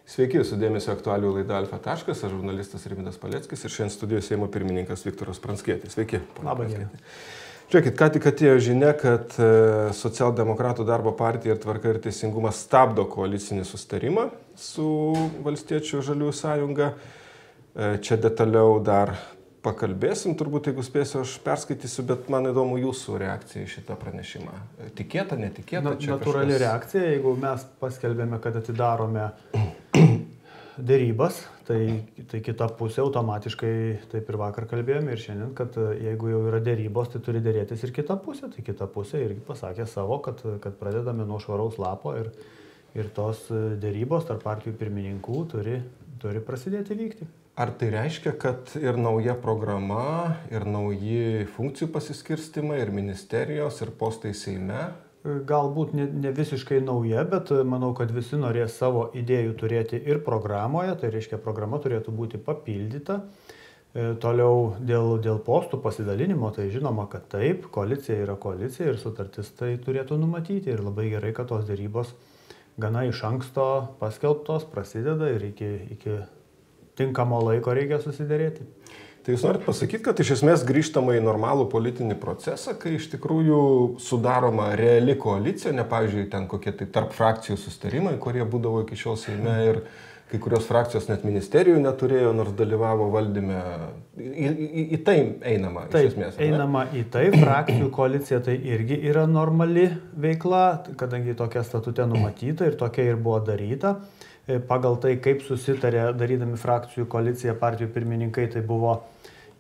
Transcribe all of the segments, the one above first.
Sveiki, jūsų dėmesio aktualių laida Alfa taškas, aš žurnalistas Rimvydas Paleckis ir šiandien studijoje Seimo pirmininkas Viktoras Pranckietis. Sveiki. Labą dieną. Žiūrėkit, ką tik atėjo žinia, kad Socialdemokratų darbo partija ir Tvarka ir Teisingumas stabdo koalicinį sustarimą su Valstiečių žaliųjų sąjunga. Čia detaliau dar pakalbėsim, turbūt jeigu spėsiu, aš perskaitysiu, bet man įdomu jūsų reakcija į šitą pranešimą. Tikėta, netikėta? Natūrali reakcija, jeigu mes paskelbėme, kad atidarome dėrybas, tai kita pusė automatiškai, taip ir vakar kalbėjome ir šiandien, kad jeigu jau yra dėrybos, tai turi dėrėtis ir kita pusė. Tai kita pusė irgi pasakė savo, kad pradedame nuo švaraus lapo ir tos dėrybos tarp partijų pirmininkų turi prasidėti vykti. Ar tai reiškia, kad ir nauja programa, ir nauji funkcijų pasiskirstimai, ir ministerijos, ir postai Seime? Galbūt ne visiškai nauja, bet manau, kad visi norės savo idėjų turėti ir programoje, tai reiškia, programa turėtų būti papildyta. Toliau dėl postų pasidalinimo, tai žinoma, kad taip, koalicija yra koalicija ir sutartis tai turėtų numatyti ir labai gerai, kad tos dėrybos gana iš anksto paskelbtos, prasideda ir iki tinkamo laiko reikia susiderėti. Tai jūs norit pasakyti, kad iš esmės grįžtama į normalų politinį procesą, kai iš tikrųjų sudaroma reali koalicija, ne pavyzdžiui, ten kokie tai tarp frakcijų sustarimai, kurie būdavo iki šiol Seime ir kai kurios frakcijos net ministerijų neturėjo, nors dalyvavo valdyme. Į tai einama iš esmės. Taip, einama į tai. Frakcijų koalicija tai irgi yra normali veikla, kadangi tokia statute numatyta ir tokia ir buvo daryta. Pagal tai, kaip susitarė darydami frakcijų koaliciją partijų pirmininkai, tai buvo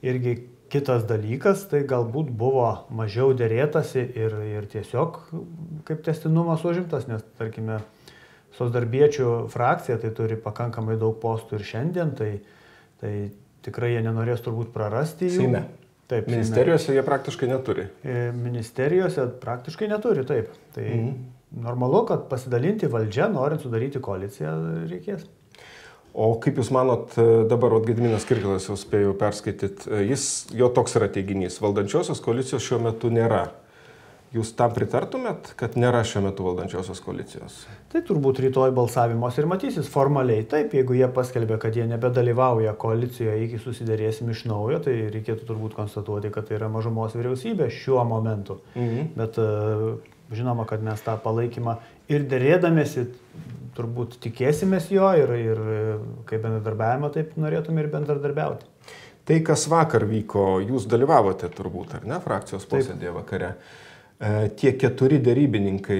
irgi kitas dalykas, tai galbūt buvo mažiau dėrėtasi ir tiesiog kaip tęstinumas užimtas, nes tarkime, socdarbiečių frakcija tai turi pakankamai daug postų ir šiandien, tai tikrai jie nenorės turbūt prarasti jų. Seime. Taip, ministerijose jie praktiškai neturi. Ministerijose praktiškai neturi, taip. Tai normalu, kad pasidalinti valdžią, norint sudaryti koaliciją, reikės. O kaip Jūs manot, dabar Gediminas Kirkilas jau spėjau perskaityti, jo toks yra teiginys, valdančiosios koalicijos šiuo metu nėra. Jūs tam pritartumėt, kad nėra šiuo metu valdančiosios koalicijos? Tai turbūt rytoj balsavimuose ir matysis formaliai. Taip, jeigu jie paskelbė, kad jie nebedalyvauja koalicijoje iki susiderėsim iš naujo, tai reikėtų turbūt konstatuoti, kad tai yra mažumos vyriausybė šiuo momentu. Bet žinoma, kad mes tą palaikymą ir dėrėdamėsi turbūt tikėsimės jo ir kaip bendradarbiavimą taip norėtume ir bendradarbiauti. Tai, kas vakar vyko, jūs dalyvavote turbūt, ar ne, frakcijos posėdėje vakare. Tie 4 derybininkai,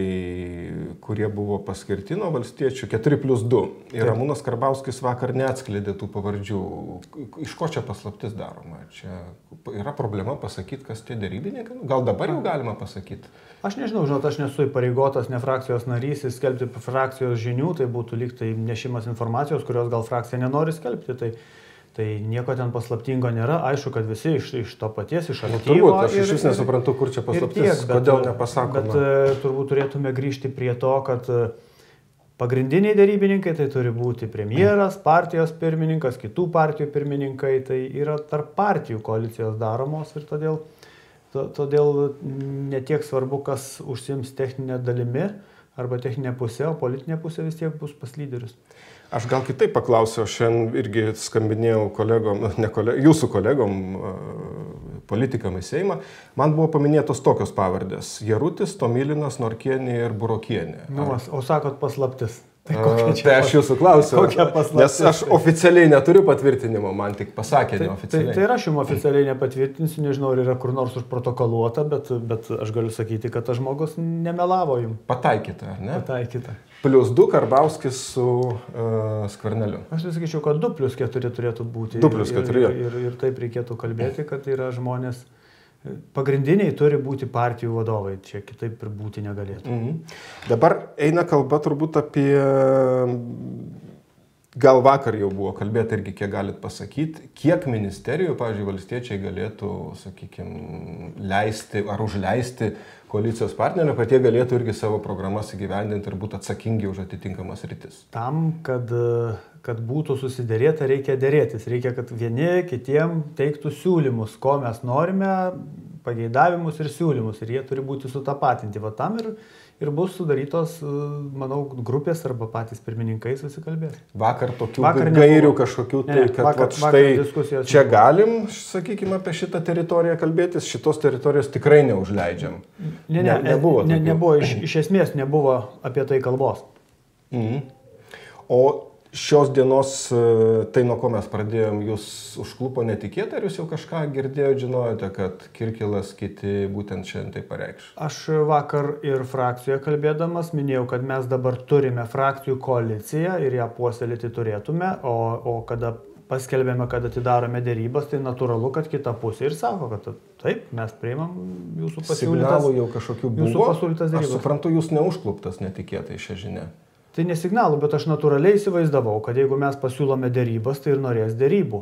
kurie buvo paskirti nuo valstiečių, 4+2. Ir Ramūnas Karbauskis vakar neatskleidė tų pavardžių. Iš ko čia paslaptis daroma? Čia yra problema pasakyti, kas tie derybininkai? Gal dabar jau galima pasakyti? Aš nežinau, aš nesu įpareigotas, ne frakcijos narys, skelbti frakcijos žinių, tai būtų lyg tai nešimas informacijos, kurios gal frakcija nenori skelbti. Tai nieko ten paslaptingo nėra. Aišku, kad visi iš to paties, iš aktyvo. Turbūt, aš iš vis nesuprantu, kur čia paslaptis, kodėl nepasakoma. Bet turbūt turėtume grįžti prie to, kad pagrindiniai derybininkai tai turi būti premjeras, partijos pirmininkas, kitų partijų pirmininkai. Tai yra tarp partijų koalicijos daromos ir todėl netiek svarbu, kas užsiims techninę dalimi arba techninė pusė, o politinė pusė vis tiek bus pas lyderius. Aš gal kitaip paklausiu, šiandien irgi skambinėjau jūsų kolegom, politikam į Seimą. Man buvo paminėtos tokios pavardės: Jarutis, Tomilinas, Norkienė ir Burokienė. O sakot paslaptis. Tai aš jūsų klausiu, nes aš oficialiai neturiu patvirtinimo, man tik pasakė neoficialiai. Tai aš jums oficialiai nepatvirtinsiu, nežinau, ar yra kur nors užprotokoluota, bet aš galiu sakyti, kad tas žmogus nemelavo jums. Pataikyta, ar ne? Pataikyta. +2 Karbauskis su Skverneliu. Aš tai sakyčiau, kad 2+4 turėtų būti. 2+4. Ir taip reikėtų kalbėti, kad yra žmonės. Pagrindiniai turi būti partijų vadovai, čia kitaip ir būti negalėtų. Dabar eina kalba turbūt apie, gal vakar jau buvo kalbėta irgi, kiek galit pasakyti, kiek ministerijų, pavyzdžiui, valstiečiai galėtų, sakykime, leisti ar užleisti koalicijos partnerių, kad jie galėtų irgi savo programas įgyvendinti ir būtų atsakingi už atitinkamas rytis. Tam, kad būtų susiderėta, reikia dėrėtis. Reikia, kad vieni kitiem teiktų siūlymus, ko mes norime, pageidavimus ir siūlymus. Ir jie turi būti sutapatinti. Va tam ir bus sudarytos, manau, grupės arba patys pirmininkai susikalbės. Vakar tokių gairių kažkokių, tai kad štai čia galim, sakykime, apie šitą teritoriją kalbėtis, šitos teritorijos tikrai neužleidžiam. Nebuvo, iš esmės nebuvo apie tai kalbos. O šios dienos, tai nuo ko mes pradėjom, jūs užklupo netikėtai, ar jūs jau kažką girdėjote, žinojote, kad Kirkilas kiti būtent šiandien tai pareikš? Aš vakar ir frakcijoje kalbėdamas minėjau, kad mes dabar turime frakcijų koaliciją ir ją puoselėti turėtume, o kada paskelbėme, kad atidarome dėrybas, tai natūralu, kad kita pusė ir sako, kad taip, mes priimam jūsų pasiūlytas. Signalų jau kažkokių buvo, aš suprantu, jūs neužkluptas netikėtai šią žinią. Tai nesignalų, bet aš natūraliai įsivaizdavau, kad jeigu mes pasiūlome dėrybas, tai ir norės dėrybų.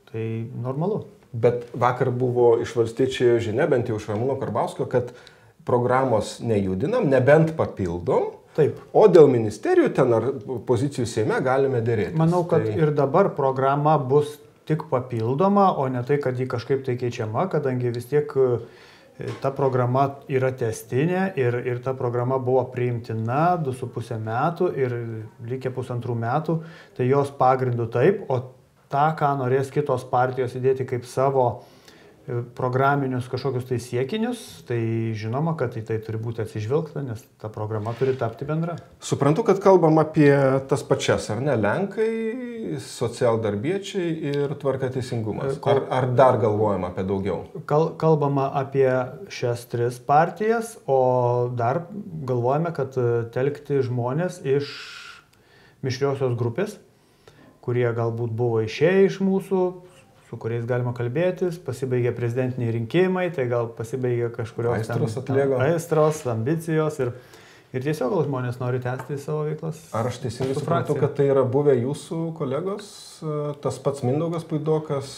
Tai normalu. Bet vakar buvo iš valstiečių žinia, bent jau iš Ramūno Karbauskio, kad programos nejudinam, nebent papildom. Taip. O dėl ministerijų ten ar pozicijų Seime galime dėrėtis. Manau, kad ir dabar programa bus tik papildoma, o ne tai, kad ji kažkaip tai keičiama, kadangi vis tiek ta programa yra testinė ir ta programa buvo priimtina 2,5 metų ir likę 1,5 metų, tai jos pagrindų taip, o tą, ką norės kitos partijos įdėti kaip savo programinius kažkokius tai siekinius, tai žinoma, kad į tai turi būti atsižvelgta, nes ta programa turi tapti bendra. Suprantu, kad kalbam apie tas pačias, ar ne, Lenkai, socialdarbiečiai ir Tvarka teisingumas. Ar dar galvojama apie daugiau? Kalbama apie šias 3 partijas, o dar galvojame, kad telkti žmonės iš mišriosios grupės, kurie galbūt buvo išėję iš mūsų, su kuriais galima kalbėtis, pasibaigė prezidentiniai rinkimai, tai gal pasibaigė kažkurios aistros, ambicijos ir tiesiog gal žmonės nori tęsti savo veiklas. Ar aš teisingai suprantu, kad tai yra buvę jūsų kolegos, tas pats Mindaugas Puidokas,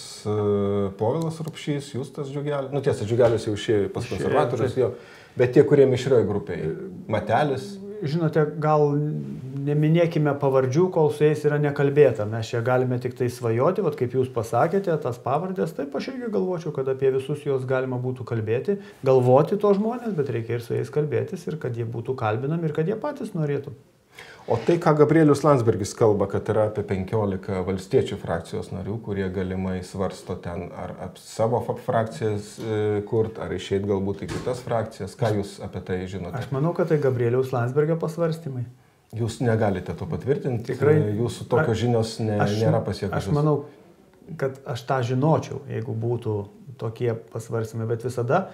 Povilas Rupšys, Justas Džiugelis, nu tiesa, Džiugelis jau išėjo pas konservatorius, jo, bet tie, kurie mišrioj grupėje, Matelis. Žinote, gal neminėkime pavardžių, kol su jais yra nekalbėta. Mes čia galime tik tai svajoti, vat kaip jūs pasakėte, tas pavardės, taip aš irgi galvočiau, kad apie visus juos galima būtų kalbėti, galvoti to žmonės, bet reikia ir su jais kalbėtis ir kad jie būtų kalbinami ir kad jie patys norėtų. O tai, ką Gabrielius Landsbergis kalba, kad yra apie 15 valstiečių frakcijos narių, kurie galimai svarsto ten ar savo frakcijas kurt, ar išeit galbūt į kitas frakcijas. Ką jūs apie tai žinote? Aš manau, kad tai Gabrieliaus Landsbergio pasvarstymai. Jūs negalite to patvirtinti? Tikrai. Jūsų tokios žinios nėra pasiekusios? Aš manau, kad aš tą žinočiau, jeigu būtų tokie pasvarstymai, bet visada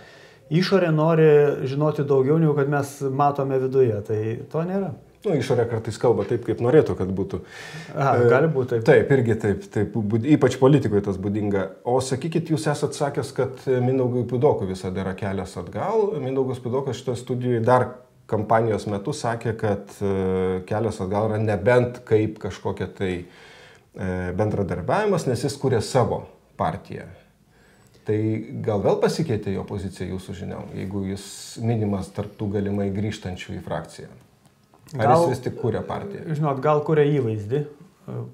išorė nori žinoti daugiau, negu kad mes matome viduje, tai to nėra. Nu, išorė kartais kalba taip, kaip norėtų, kad būtų. Gali būti taip. Taip, irgi taip, ypač politikoje tas būdinga. O sakykit, jūs esat sakęs, kad Mindaugui Puidokui visada yra kelias atgal. Mindaugas Puidokas šitoje studijoje dar kampanijos metu sakė, kad kelias atgal yra nebent kaip kažkokia tai bendradarbiavimas, nes jis kūrė savo partiją. Tai gal vėl pasikeitė jo pozicija jūsų žiniom, jeigu jis minimas tarp tų galimai grįžtančių į frakciją? Ar jis vis tik kūrė partiją? Žinot, gal kūrė įvaizdį.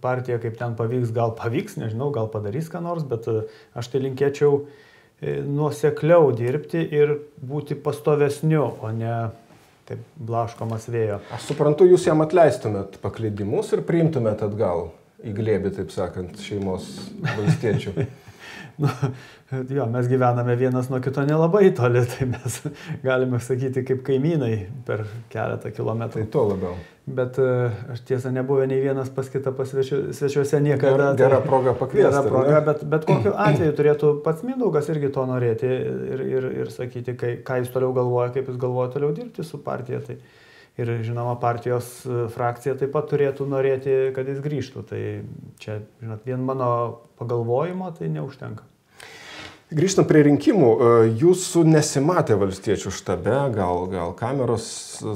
Partija kaip ten pavyks, gal pavyks, nežinau, gal padarys ką nors, bet aš tai linkėčiau nuosekliau dirbti ir būti pastovesniu, o ne taip blaškomas vėjo. Aš suprantu, jūs jam atleistumėt paklydimus ir priimtumėt atgal į glėbį, taip sakant, šeimos valstiečių. Jo, mes gyvename vienas nuo kito nelabai toli, tai mes galime sakyti kaip kaimynai per keletą kilometrų. Tai to labiau. Bet aš tiesa nebuvę nei vienas pas kitą svečiuose niekada. Gera proga pakviesti. Gera proga, bet kokiu atveju turėtų pats Mindaugas irgi to norėti ir sakyti, ką jis toliau galvoja, kaip jis galvoja toliau dirbti su partija. Tai ir žinoma, partijos frakcija taip pat turėtų norėti, kad jis grįžtų. Tai čia, žinot, vien mano pagalvojimo tai neužtenka. Grįžtant prie rinkimų, jūsų nesimatė valstiečių štabe, gal kameros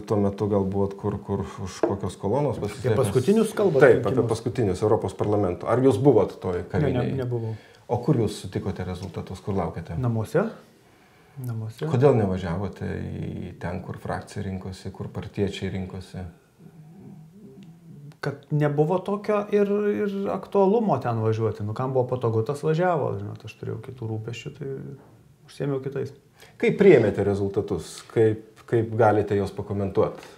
tuo metu gal buvot kur už kokios kolonos pasislėpęs? Apie paskutinius kalbate? Taip, apie paskutinius Europos parlamento. Ar jūs buvot toj kavinėje? Nebuvau. O kur jūs sutikote rezultatus, kur laukėte? Namuose. Kodėl nevažiavote į ten, kur frakcija rinkosi, kur partiečiai rinkosi? Kad nebuvo tokio ir aktualumo ten važiuoti. Nu, kam buvo patogu, tas važiavo. Žinot, aš turėjau kitų rūpesčių, tai užsiėmiau kitais. Kaip priėmėte rezultatus? Kaip kaip galite jos pakomentuoti?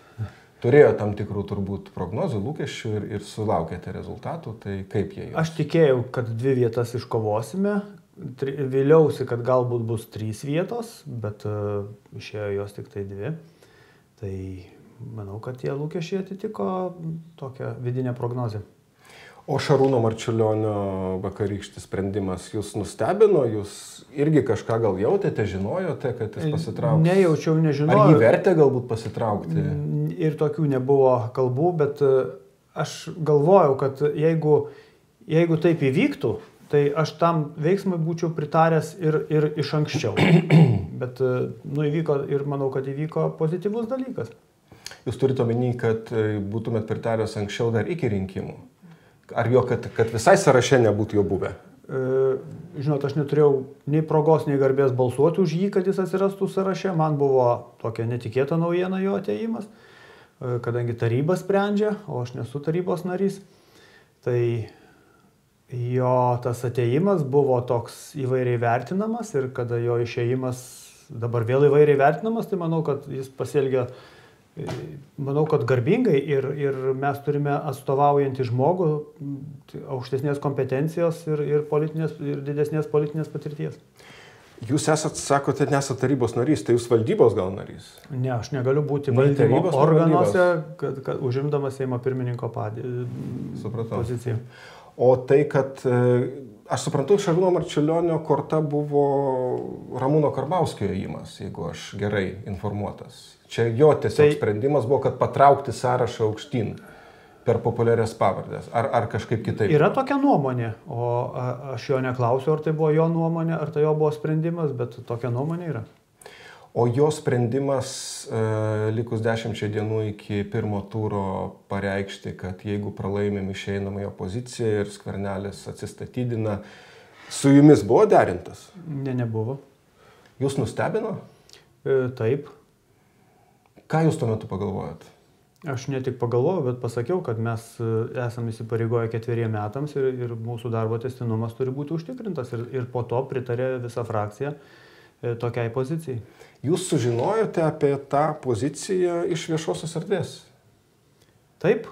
Turėjo tam tikrų turbūt prognozių, lūkesčių ir sulaukėte rezultatų, tai kaip jie jau? Aš tikėjau, kad 2 vietas iškovosime, vėliausi, kad galbūt bus 3 vietos, bet išėjo jos tik tai 2. Tai manau, kad tie lūkesčiai atitiko tokią vidinę prognozę. O Šarūno Marčiulionio vakarykštis sprendimas jūs nustebino, jūs irgi kažką gal jautėte, žinojote, kad jis pasitrauks? Nejaučiau, nežinojau. Ar jį vertė galbūt pasitraukti? Ir tokių nebuvo kalbų, bet aš galvojau, kad jeigu taip įvyktų, tai aš tam veiksmui būčiau pritaręs ir iš anksčiau. Bet įvyko ir manau, kad įvyko pozityvus dalykas. Jūs turite omeny, kad būtumėt pritaręs anksčiau dar iki rinkimų? Ar jo, kad visai sąraše nebūtų jo buvę? Žinot, aš neturėjau nei progos, nei garbės balsuoti už jį, kad jis atsirastų sąraše. Man buvo tokia netikėta naujiena jo atėjimas, kadangi taryba sprendžia, o aš nesu tarybos narys. Tai jo tas atėjimas buvo toks įvairiai vertinamas ir kada jo išėjimas dabar vėl įvairiai vertinamas, tai manau, kad jis pasielgia garbingai ir mes turime atstovaujantį žmogų aukštesnės kompetencijos ir didesnės politinės patirties. Jūs sakote, nesate tarybos narys, tai jūs valdybos gal narys? Ne, aš negaliu būti valdymo organuose, kad užimdamas Seimo pirmininko poziciją. O tai, kad aš suprantu, Šarūno Marčiulionio korta buvo Ramūno Karbauskio ėjimas, jeigu aš gerai informuotas. Čia jo tiesiog sprendimas buvo, kad patraukti sąrašą aukštyn per populiarias pavardės. Ar kažkaip kitaip? Yra tokia nuomonė, o aš jo neklausiu, ar tai buvo jo nuomonė, ar tai jo buvo sprendimas, bet tokia nuomonė yra. O jo sprendimas likus 10 dienų iki pirmo turo pareikšti, kad jeigu pralaimim išeinam į opoziciją ir Skvernelis atsistatydina, su jumis buvo derintas? Ne, nebuvo. Jūs nustebino? Taip. Ką jūs tuo metu pagalvojot? Aš ne tik pagalvojau, bet pasakiau, kad mes esame įsipareigoję 4 metams ir mūsų darbo tęstinumas turi būti užtikrintas ir po to pritarė visa frakcija tokiai pozicijai. Jūs sužinojote apie tą poziciją iš viešosios erdvės? Taip.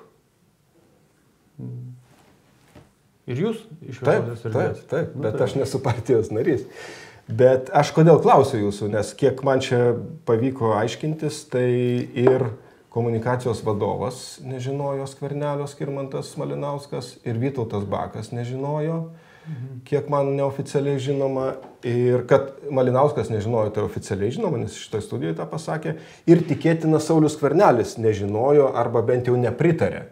Ir jūs iš viešosios erdvės? Taip, bet aš nesu partijos narys. Bet aš kodėl klausiu jūsų, nes kiek man čia pavyko aiškintis, tai ir komunikacijos vadovas nežinojo Skvernelio Skirmantas Malinauskas ir Vytautas Bakas nežinojo, kiek man neoficialiai žinoma, ir kad Malinauskas nežinojo, tai oficialiai žinoma, nes šitoje studijoje tą pasakė, ir tikėtina Saulius Skvernelis nežinojo arba bent jau nepritarė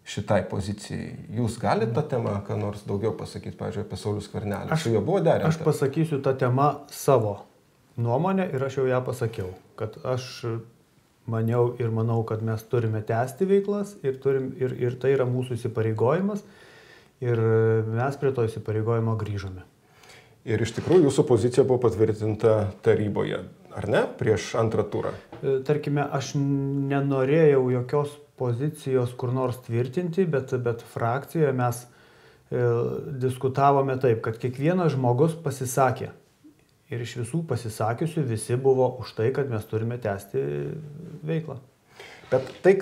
šitai pozicijai. Jūs galite tą temą, ką nors daugiau pasakyti, pavyzdžiui, apie Saulių Skvernelį? Su juo buvo derinta? Aš pasakysiu tą temą savo nuomonę ir aš jau ją pasakiau, kad aš maniau ir manau, kad mes turime tęsti veiklas ir tai yra mūsų įsipareigojimas ir mes prie to įsipareigojimo grįžome. Ir iš tikrųjų jūsų pozicija buvo patvirtinta taryboje, ar ne, prieš antrą turą? Tarkime, aš nenorėjau jokios pozicijos kur nors tvirtinti, bet frakcijoje mes diskutavome taip, kad kiekvienas žmogus pasisakė. Ir iš visų pasisakiusių visi buvo už tai, kad mes turime tęsti veiklą. Bet tai,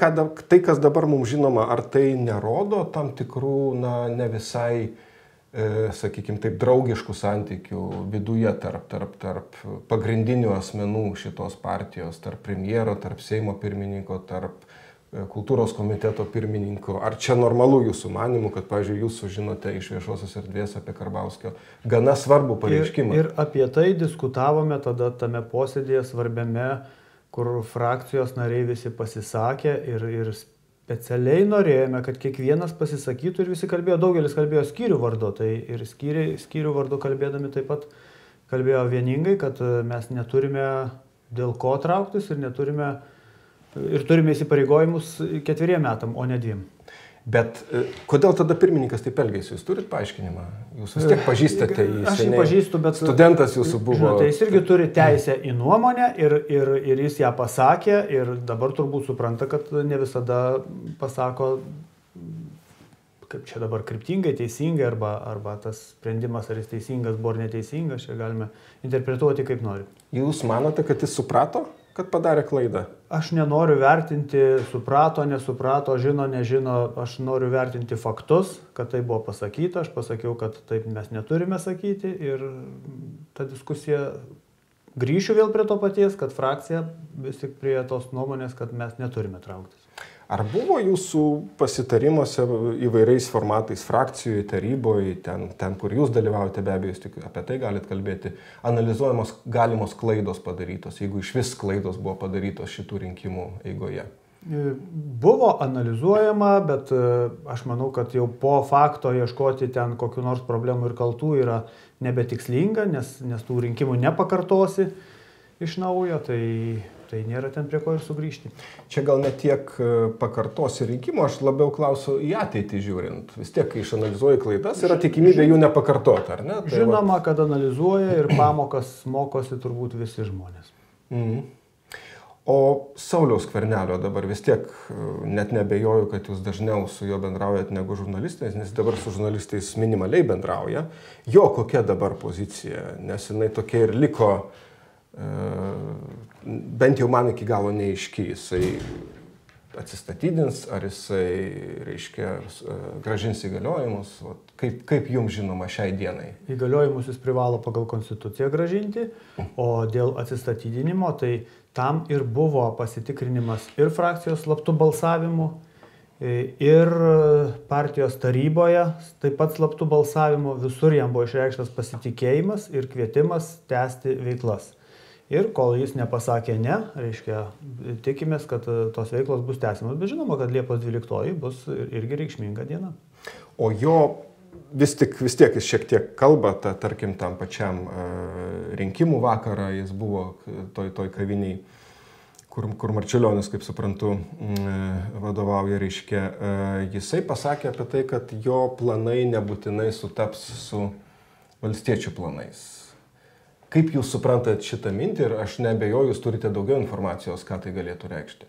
kas dabar mums žinoma, ar tai nerodo tam tikrų, ne visai, sakykime, taip draugiškų santykių viduje tarp pagrindinių asmenų šitos partijos, tarp premjero, tarp Seimo pirmininko, tarp kultūros komiteto pirmininko. Ar čia normalu jūsų manimų, kad, pavyzdžiui, jūs sužinote iš viešosios erdvės apie Karbauskio gana svarbų pareiškimą? Ir apie tai diskutavome tada tame posėdėje svarbiame, kur frakcijos nariai visi pasisakė ir specialiai norėjome, kad kiekvienas pasisakytų ir visi kalbėjo, daugelis kalbėjo skyrių vardu, tai ir skyrių vardu kalbėdami taip pat kalbėjo vieningai, kad mes neturime dėl ko trauktis ir turime įsipareigojimus 4 metam, o ne 2. Bet kodėl tada pirmininkas taip elgėsi? Jūs turit paaiškinimą? Jūs vis tiek pažįstate jį. Aš jį pažįstu, bet studentas jūsų buvo. Žinote, jis irgi turi teisę į nuomonę ir jis ją pasakė ir dabar turbūt supranta, kad ne visada pasako, kaip čia dabar kryptingai, teisingai, arba tas sprendimas, ar jis teisingas buvo ar neteisingas, čia galime interpretuoti kaip nori. Jūs manote, kad jis suprato? kad padarė klaidą? Aš nenoriu vertinti, suprato, nesuprato, žino, nežino, aš noriu vertinti faktus, kad tai buvo pasakyta, aš pasakiau, kad taip mes neturime sakyti ir ta diskusija, grįšiu vėl prie to paties, kad frakcija vis tik prie tos nuomonės, kad mes neturime trauktis. Ar buvo jūsų pasitarimuose įvairiais formatais, frakcijoje, taryboje, ten kur jūs dalyvaujate, be abejo, jūs tik apie tai galite kalbėti, analizuojamos galimos klaidos padarytos, jeigu iš vis klaidos buvo padarytos šitų rinkimų eigoje? Buvo analizuojama, bet aš manau, kad jau po fakto ieškoti ten kokių nors problemų ir kaltų yra nebetikslinga, nes tų rinkimų nepakartosi iš naujo, tai nėra ten prie ko ir sugrįžti. Čia gal ne tiek pakartosi rinkimų, aš labiau klausiu į ateitį žiūrint. Vis tiek, kai išanalizuoji klaidas, yra tikimybė jų nepakartoti, ar ne? Tai žinoma, kad analizuoja ir pamokas mokosi turbūt visi žmonės. O Sauliaus Skvernelio dabar vis tiek net nebejoju, kad jūs dažniau su juo bendraujat negu žurnalistais, nes dabar su žurnalistais minimaliai bendrauja. Jo kokia dabar pozicija, nes jinai tokia ir liko, bent jau man iki galo neaiški, jisai atsistatydins, ar jisai, reiškia, grąžins įgaliojimus, kaip jums žinoma šiai dienai? Įgaliojimus jis privalo pagal konstituciją grąžinti, o dėl atsistatydinimo, tai tam ir buvo pasitikrinimas ir frakcijos slaptų balsavimų, ir partijos taryboje taip pat slaptų balsavimų, visur jam buvo išreikštas pasitikėjimas ir kvietimas tęsti veiklas. Ir kol jis nepasakė ne, reiškia, tikimės, kad tos veiklos bus tęsiamos, bet žinoma, kad Liepos 12 bus irgi reikšminga diena. O jo vis tiek jis šiek tiek kalba, tarkim, tam pačiam rinkimų vakarą, jis buvo toj kaviniai, kur Marčiulionis, kaip suprantu, vadovauja, reiškia, jisai pasakė apie tai, kad jo planai nebūtinai sutaps su valstiečių planais. Kaip jūs suprantate šitą mintį ir aš neabejoju, jūs turite daugiau informacijos, ką tai galėtų reikšti?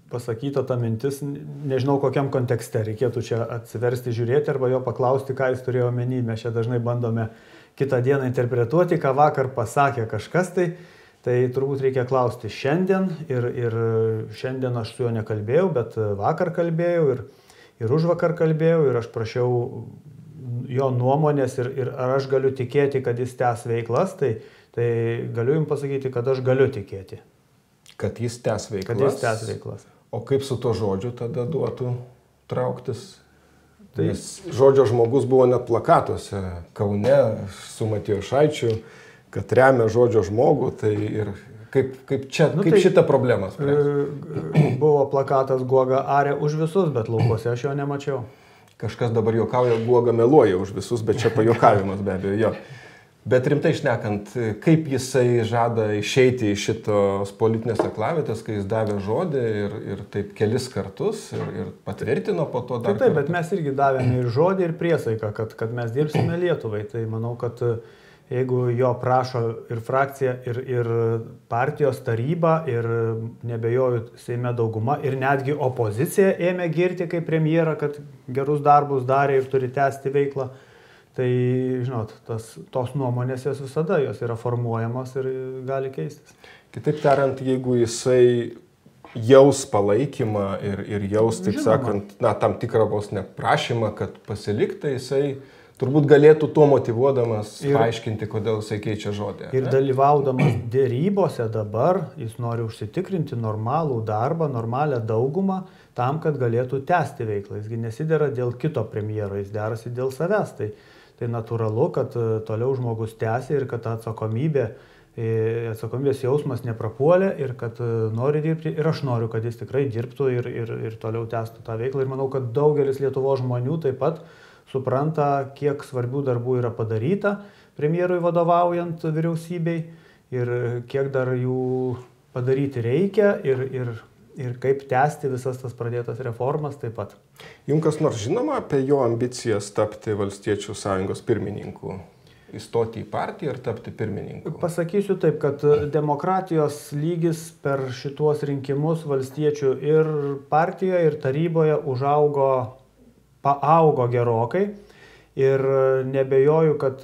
Pasakyta ta mintis, nežinau kokiam kontekste, reikėtų čia atsiversti, žiūrėti arba jo paklausti, ką jis turėjo omeny. Mes čia dažnai bandome kitą dieną interpretuoti, ką vakar pasakė kažkas, tai turbūt reikia klausti šiandien ir šiandien aš su juo nekalbėjau, bet vakar kalbėjau ir užvakar kalbėjau ir aš prašiau jo nuomonės ir ar aš galiu tikėti, kad jis tęs veiklas, tai galiu jums pasakyti, kad aš galiu tikėti. Kad jis tęs veiklas? Kad jis tęs veiklas. O kaip su to žodžiu tada duotų trauktis? Nes žodžio žmogus buvo net plakatuose Kaune su Matijošaičiu, kad remia žodžio žmogų, tai ir kaip šitą problemą spręs? Buvo plakatas Guoga arė už visus, bet laukuose aš jo nemačiau. Kažkas dabar juokauja, Guoga meluoja už visus, bet čia pajuokavimas be abejo jo. Bet rimtai šnekant, kaip jisai žada išeiti iš šitos politinės aklavietės, kai jis davė žodį ir taip kelis kartus ir patvirtino po to dar. Taip, bet mes irgi davėme ir žodį, ir priesaiką, kad mes dirbsime Lietuvai. Tai manau, kad jeigu jo prašo ir frakcija, ir partijos taryba, ir nebejoju Seime dauguma, ir netgi opozicija ėmė girti kaip premjerą, kad gerus darbus darė ir turi tęsti veiklą, tai, žinot, tos nuomonės jos visada, jos yra formuojamos ir gali keistis. Kitaip tariant, jeigu jisai jaus palaikymą ir jaus, taip sakant, tam tikrą vos neprašymą, kad pasiliktų, jisai turbūt galėtų tuo motyvuodamas paaiškinti, kodėl jisai keičia žodį. Ir dalyvaudamas dėrybose dabar, jis nori užsitikrinti normalų darbą, normalią daugumą, tam, kad galėtų tęsti veiklą. Jisgi nesidera dėl kito premjero, jis derasi dėl savęs. Tai natūralu, kad toliau žmogus tęsia ir kad atsakomybės jausmas neprapuolė ir kad nori dirbti. Ir aš noriu, kad jis tikrai dirbtų ir toliau tęstų tą veiklą. Ir manau, kad daugelis Lietuvos žmonių taip pat supranta, kiek svarbių darbų yra padaryta premjerui vadovaujant vyriausybei ir kiek dar jų padaryti reikia ir kaip tęsti visas tas pradėtas reformas taip pat. Jums kas nors žinoma apie jo ambicijas tapti Valstiečių sąjungos pirmininku? Įstoti į partiją ir tapti pirmininku? Pasakysiu taip, kad demokratijos lygis per šituos rinkimus Valstiečių ir partijoje, ir taryboje paaugo gerokai ir nebejoju, kad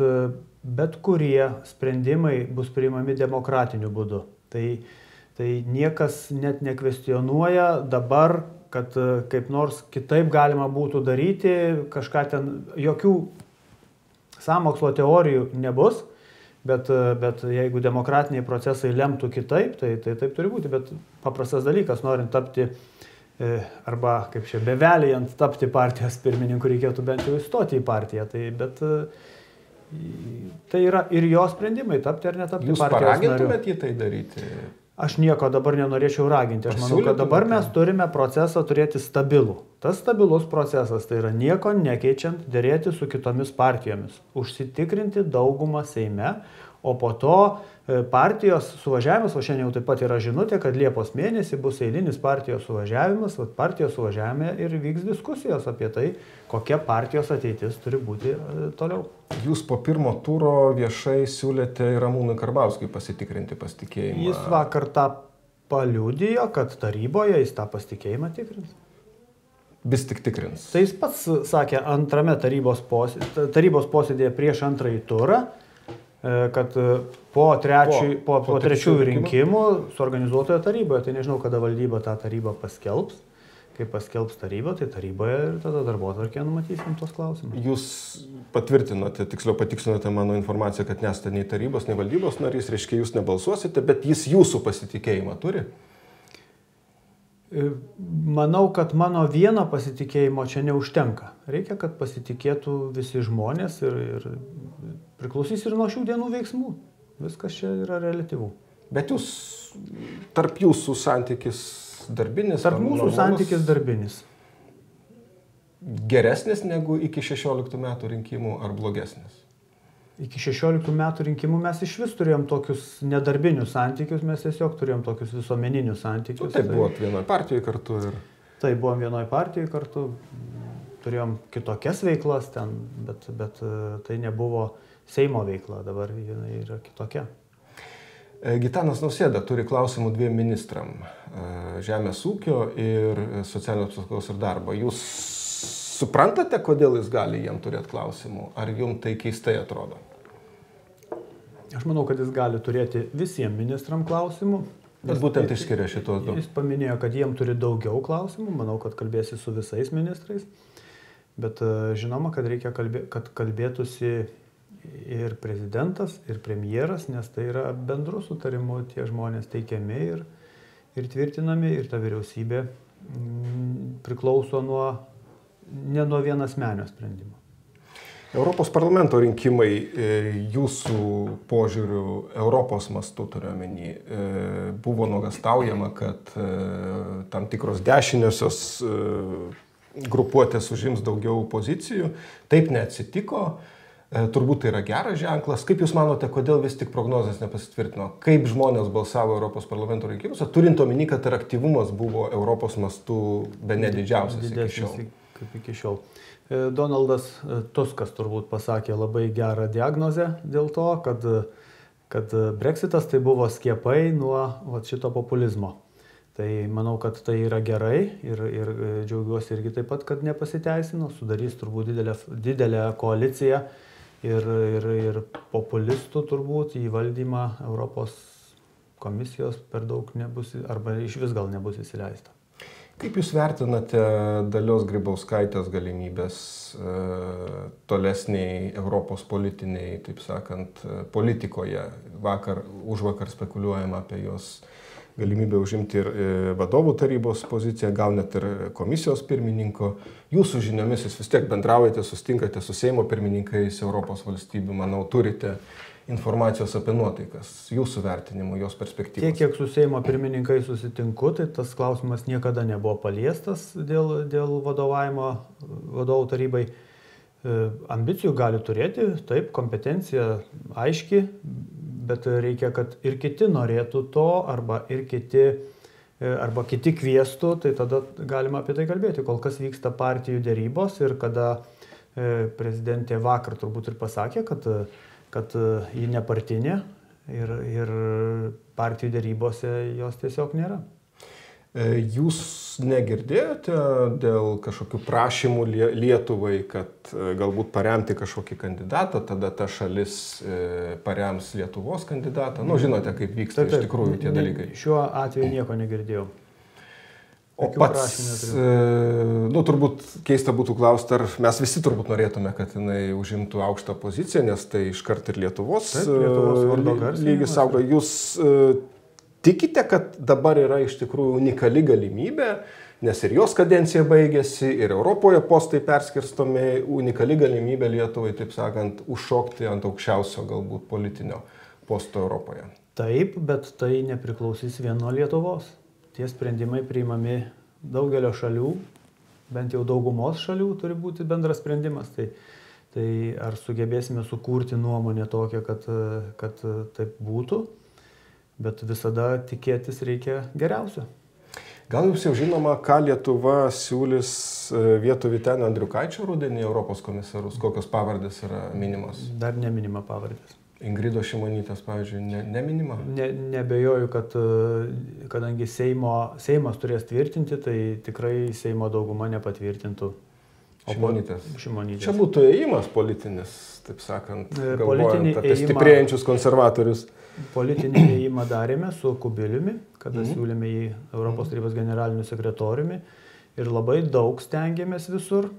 bet kurie sprendimai bus priimami demokratiniu būdu. Tai niekas net nekvestionuoja dabar, kad kaip nors kitaip galima būtų daryti, kažką ten, jokių sąmokslo teorijų nebus, bet jeigu demokratiniai procesai lemtų kitaip, tai taip turi būti, bet paprastas dalykas, norint tapti arba kaip čia bevelijant tapti partijos pirmininku, reikėtų bent jau įstoti į partiją, tai yra ir jo sprendimai, tapti ar netapti Jūs partijos nariu. Jūs paragintumėte į tai daryti? Aš nieko dabar nenorėčiau raginti. Aš manau, kad dabar mes turime procesą turėti stabilų. Tas stabilus procesas tai yra nieko nekeičiant, dėrėti su kitomis partijomis, užsitikrinti daugumą Seime, o po to partijos suvažiavimas, o šiandien jau taip pat yra žinutė, kad Liepos mėnesį bus eilinis partijos suvažiavimas, partijos suvažiavime ir vyks diskusijos apie tai, kokia partijos ateitis turi būti toliau. Jūs po pirmo turo viešai siūlėte Ramūnui Karbauskiui pasitikrinti pasitikėjimą. Jis vakar tą paliudijo, kad taryboje jis tą pasitikėjimą tikrins. Vis tik tikrins. Tai jis pats sakė antrame tarybos posėdėje prieš antrąjį turą, kad po trečiųjų rinkimų suorganizuotoje taryboje, tai nežinau, kada valdyba tą tarybą paskelbs, kai paskelbs taryba, tai taryboje ir tada darbotvarkėje numatysim tos klausimus. Jūs patvirtinote, tiksliau patiksinote mano informaciją, kad nesate nei tarybos, nei valdybos narys, reiškia jūs nebalsuosite, bet jis jūsų pasitikėjimą turi? Manau, kad mano vieno pasitikėjimo čia neužtenka. Reikia, kad pasitikėtų visi žmonės ir priklausys ir nuo šių dienų veiksmų. Viskas čia yra reliatyvu. Bet tarp jūsų santykis darbinis? Tarp mūsų santykis darbinis. Geresnis negu iki 16 metų rinkimų ar blogesnis? Iki 16 metų rinkimų mes iš vis turėjom tokius nedarbinius santykius, mes tiesiog turėjom tokius visuomeninius santykius. Taip, buvot vienoje partijoje kartu ir... Taip, buvom vienoje partijoje kartu, turėjom kitokias veiklas ten, bet tai nebuvo Seimo veikla, dabar jinai yra kitokia. Gitanas Nausėda turi klausimų dviem ministram - žemės ūkio ir socialinės apsaugos ir darbo. Jūs suprantate, kodėl jis gali jiem turėti klausimų? Ar jums tai keistai atrodo? Aš manau, kad jis gali turėti visiems ministram klausimų. Bet būtent išskiria šitos du. Jis paminėjo, kad jiem turi daugiau klausimų. Manau, kad kalbėsi su visais ministrais. Bet žinoma, kad reikia kad kalbėtųsi ir prezidentas, ir premjeras, nes tai yra bendru sutarimu tie žmonės teikiami ir tvirtinami, ir ta vyriausybė priklauso ne nuo vienasmenio sprendimo. Europos parlamento rinkimai jūsų požiūrių Europos mastu turiuomenį buvo nuogąstaujama, kad tam tikros dešiniosios grupuotės užims daugiau pozicijų. Taip neatsitiko. Turbūt tai yra geras ženklas. Kaip Jūs manote, kodėl vis tik prognozės nepasitvirtino? Kaip žmonės balsavo Europos parlamento rinkimuose, turint omeny, kad ir aktyvumas buvo Europos mastu bene didžiausias iki šiol? Kaip iki šiol. Donaldas Tuskas turbūt pasakė labai gerą diagnozę dėl to, kad Brexitas tai buvo skiepai nuo šito populizmo. Tai manau, kad tai yra gerai ir džiaugiuosi irgi taip pat, kad nepasiteisino, sudarys turbūt didelę koaliciją ir populistų turbūt į valdymą Europos komisijos per daug nebus, arba iš vis gal nebus įsileista. Kaip Jūs vertinate Dalios Grybauskaitės galimybės tolesniai Europos politiniai, taip sakant, politikoje? Užvakar spekuliuojama apie jos galimybę užimti ir vadovų tarybos poziciją, gal net ir komisijos pirmininko. Jūsų žiniomis Jūs vis tiek bendraujate, sustinkate su Seimo pirmininkais Europos valstybių, manau, turite informacijos apie nuotaikas, jūsų vertinimų, jos perspektyvos. Tiek, kiek su Seimo pirmininkai susitinku, tai tas klausimas niekada nebuvo paliestas dėl vadovų tarybai. Ambicijų gali turėti, taip, kompetencija aiški, bet reikia, kad ir kiti norėtų to, arba kiti kviestų, tai tada galima apie tai kalbėti. Kol kas vyksta partijų dėrybos ir kada prezidentė vakar turbūt ir pasakė, kad ji nepartinė ir partijų dėrybose jos tiesiog nėra. Jūs negirdėjote dėl kažkokių prašymų Lietuvai, kad galbūt paremti kažkokį kandidatą, tada ta šalis parems Lietuvos kandidatą? Nu, žinote, kaip vyksta iš tikrųjų tie dalykai. Šiuo atveju nieko negirdėjau. O pats, nu, turbūt keista būtų klausti, ar mes visi turbūt norėtume, kad jinai užimtų aukštą poziciją, nes tai iškart ir Lietuvos lygis auga. Jūs tikite, kad dabar yra iš tikrųjų unikali galimybė, nes ir jos kadencija baigėsi, ir Europoje postai perskirstomi, unikali galimybė Lietuvai, taip sakant, užšokti ant aukščiausio galbūt politinio posto Europoje? Taip, bet tai nepriklausys vien nuo Lietuvos. Tie sprendimai priimami daugelio šalių, bent jau daugumos šalių turi būti bendras sprendimas. Tai ar sugebėsime sukurti nuomonę tokią, kad taip būtų? Bet visada tikėtis reikia geriausio. Gal jums jau žinoma, ką Lietuva siūlys vietoj Vytenio Andriukaičio rudenį Europos komisarus? Kokios pavardės yra minimos? Dar neminima pavardės. Ingridos Šimonytės, pavyzdžiui, neminima? Nebejoju, kad kadangi Seimas turės tvirtinti, tai tikrai Seimo dauguma nepatvirtintų Šimonytės. Čia būtų ėjimas politinis, taip sakant, galvojant apie stiprėjančius konservatorius. Politinį ėjimą darėme su Kubiliumi, kada siūlėme į Europos tarybos generaliniu sekretoriumi ir labai daug stengiamės visur.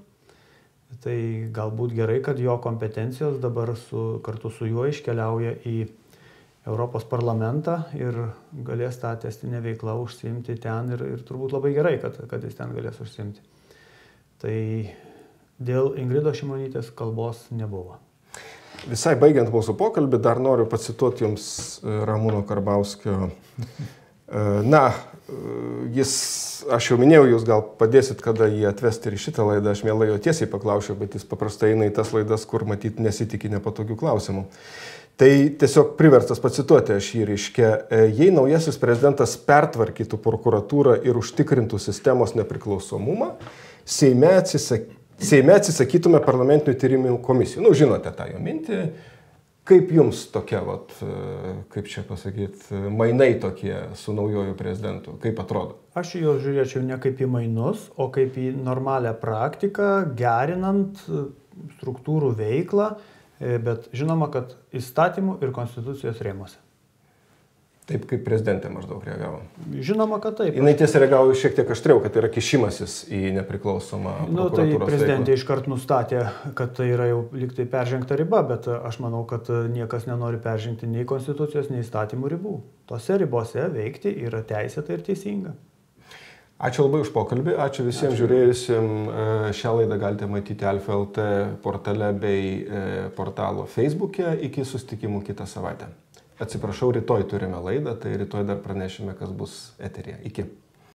Tai galbūt gerai, kad jo kompetencijos dabar kartu su juo iškeliauja į Europos parlamentą ir galės tą testinę veiklą užsiimti ten ir turbūt labai gerai, kad jis ten galės užsiimti. Tai dėl Ingridos Šimonytės kalbos nebuvo. Visai baigiant mūsų pokalbį, dar noriu pacituoti jums Ramūno Karbauskio. Na, aš jau minėjau, jūs gal padėsit, kada jį atvesti ir šitą laidą, aš mielai jo tiesiai paklausiu, bet jis paprastai eina į tas laidas, kur matyt nesitikė nepatogių klausimų. Tai tiesiog priverstas pacituoti aš jį reiškia, jei naujasis prezidentas pertvarkytų prokuratūrą ir užtikrintų sistemos nepriklausomumą, Seime atsisakytume parlamentinių tyrimų komisijų. Nu, žinote tą jo mintį. Kaip jums tokia, kaip čia pasakyti, mainai tokie su naujoju prezidentu? Kaip atrodo? Aš jo žiūrėčiau ne kaip į mainus, o kaip į normalią praktiką, gerinant struktūrų veiklą, bet žinoma, kad įstatymų ir konstitucijos rėmuose. Taip kaip prezidentė maždaug reagavo. Žinoma, kad taip. Jinai tiesiog reagavo šiek tiek aštriau, kad tai yra kišimasis į nepriklausomą prokuratūros veiklą. Tai prezidentė iškart nustatė, kad tai yra jau lyg tai peržengta riba, bet aš manau, kad niekas nenori peržengti nei konstitucijos, nei įstatymų ribų. Tose ribose veikti yra teisėta ir teisinga. Ačiū labai už pokalbį, ačiū visiems žiūrėjusim. Šią laidą galite matyti Alfa LT portale bei portalo Facebook'e. Iki susitikimų kitą savaitę. Atsiprašau, rytoj turime laidą, tai rytoj dar pranešime, kas bus eteryje. Iki.